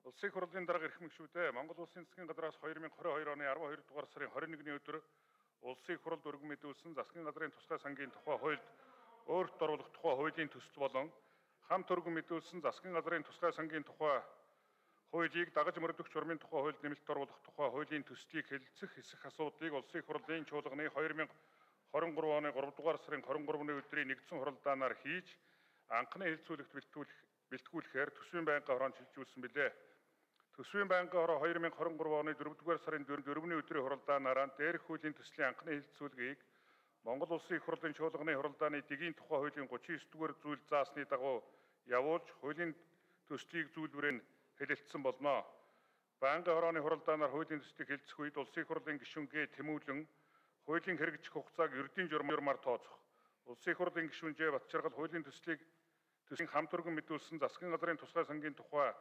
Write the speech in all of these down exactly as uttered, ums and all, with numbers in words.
Улсын их хурлын дарга эрх мэгшүүдээ Монгол Улсын засгийн газраас хоёр мың и хоёр оны арван хоёр дугаар сарын хорин нэгний өдөр улсын их хуралд өргөн мэдүүлсэн засгийн газрын тусгай сангийн тухай хуульд өөрт оруулах тухай хуулийн төсөл болон хамт өргөн мэдүүлсэн засгийн газрын тусгай сангийн тухай хуулийг дагаж мөрдөх журмын тухай хуульд нэмэлт оруулах тухай хуулийн төслийг хэлэлцэх хэсэх асуудлыг улсын их хурлын чуулганы хоёр мың и гурван оны гурав дугаар сарын хорин гурваны өдрийн нэгдсэн хуралдаанаар хийж анхны хэлэлцүүлэгт бэлтгүүлэх бэлтгүүлэхээр төсвийн байнгын хороонд шилжүүлсэн билээ. Төсвийн байнгын хороо хоёр мың и гурван оны дөрөвдүгээр сарын дөрөвний өдрийн хуралдаанаараа дээрх хуулийн төслийн анхны хэлэлцүүлгийг Монгол Улсын их хурлын чуулганы хуралдааны дэгийн тухай хуулийн гучин и дугаар зүйл заасны дагуу явуулж хуулийн төслийг зүйлбэрээр хэлэлцсэн болно. Байнгын хорооны хуралдаанаар хуулийн төслийг хэлэлцэх үед Улсын их хурлын гишүүнгээ тэмүүлэн хуулийн хэрэгжих хугацааг ердийн журмаар тооцох. Улсын их хурлын гишүүнжээ Батчаргал хуулийн төслийг төслийн хамт өргөн мэдүүлсэн засгийн газрын тусгай сангийн тухай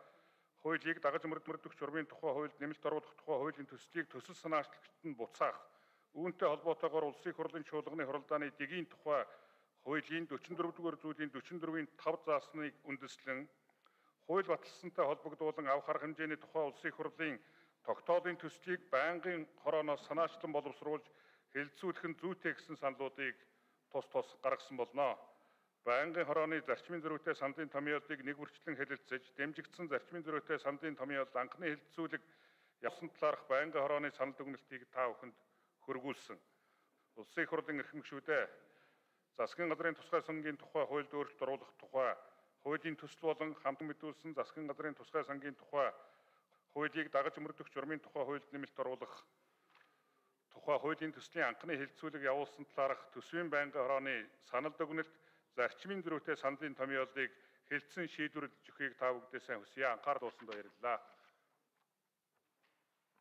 хуулийг дагаж мөрдөх журмын тухай хуульд нэмэлт оруулах тухай хуулийн төслийг төсөл санаачлагчид нь буцаах. Үүнтэй холбоотойгоор Улсын их хурлын чуулганы хуралдааны дэгийн тухай хуулийн дөрвөн дугаар зүйлийн дөрвөн дөрвийн тав заасныг үндэслэн хууль баталсантай холбогдуулан авах арга хэмжээний тухай Улсын их хурлын тогтоолын төслийг байнгын хорооноос санаачлан боловсруулж хэлэлцүүлэх нь зүйтэй гэсэн саналуудыг тус тус гаргасан болно. Байнгын хорооны зарчмын зөрүүтэй саналын томьёолыг нэг бүрчлэн хэлэлцэж, дэмжигдсэн зарчмын зөрүүтэй саналын томьёолд анхны хэлэлцүүлэг явсан талаарх байнгын хорооны санал дүгнэлтийг та бүхэнд хөргүүлсэн. Улсын их хурлын эрх мэгшүүдээ засгийн газрын тусгай сангийн тухай хуульд өөрчлөлт оруулах тухай хуулийн төсөл болон хамт мэдүүлсэн засгийн газрын тусгай сангийн тухай хуулийг дагаж мөрдөх журмын тухай хуульд нэмэлт оруулах тухай хуулийн төслийн анхны хэлэлцүүлэг явуулсан талаарх төсвийн байнгын хорооны санал дүгнэлт зарчмын зөрүүтэй саналын томьёолыг хэлэлцэн шийдвэрлэж өгөхийг та бүдээс сайн хүсье. Анхаарал туулсанд баярлалаа.